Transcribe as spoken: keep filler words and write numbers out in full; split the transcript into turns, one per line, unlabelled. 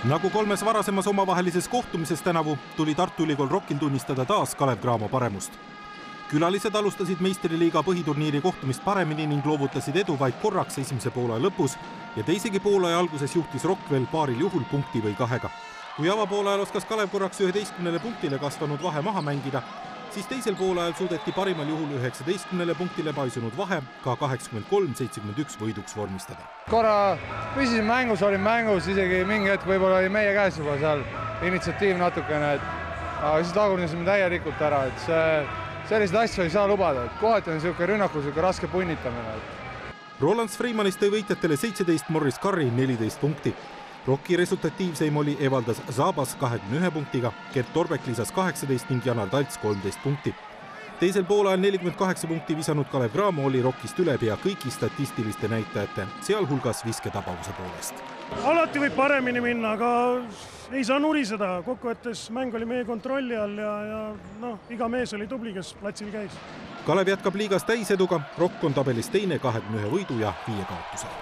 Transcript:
Nagu kolmes varasemas omavahelises kohtumises tänavu tuli Tartu Ülikool Rockil tunnistada taas Kalev Cramo paremust. Külalised alustasid meistriliiga põhiturniiri kohtumist paremini ning loovutasid edu vaid korraks esimese poolaja lõpus ja teisegi poolaja alguses juhtis Rock veel paaril juhul punkti või kahega. Kui avapoolajal oskas Kalev korraks üheteistkümnele punktile kasvanud vahe maha mängida, siis teisel poolajal suudeti parimal juhul üheksateistkümnele punktile paisunud vahe ka kaheksakümmend kolm seitsekümmend üks võiduks vormistada.
Korra püsisin mängus, olin mängus, isegi mingi hetk võib-olla oli meie käes juba seal initsiatiiv natukene, et aga siis tagurnisime täielikult ära, et see, selliseid asju ei saa lubada, et kohati on niisugune rünnaku, niisugune raske punnitamine.
Roland Freimanist tõi võitjatele seitseteist, Morris Curry neliteist punkti. Rocki resultatiivseim oli Evaldas Zabas kahekümne ühe punktiga, Gert Torbek lisas kaheksateist ning Janar Talts kolmteist punkti. Teisel poolajal nelikümmend kaheksa punkti visanud Kalev Cramo oli Rockist üle pea kõigi statistiliste näitajate, sealhulgas visketabavuse poolest.
Alati võib paremini minna, aga ei saa nuriseda. Kokkuvõttes mäng oli meie kontrolli all ja, ja no, iga mees oli tubli, kes platsil käis.
Kalev jätkab liigas täiseduga, Rock on tabelis teine kahekümne ühe võidu ja viie kaotusel.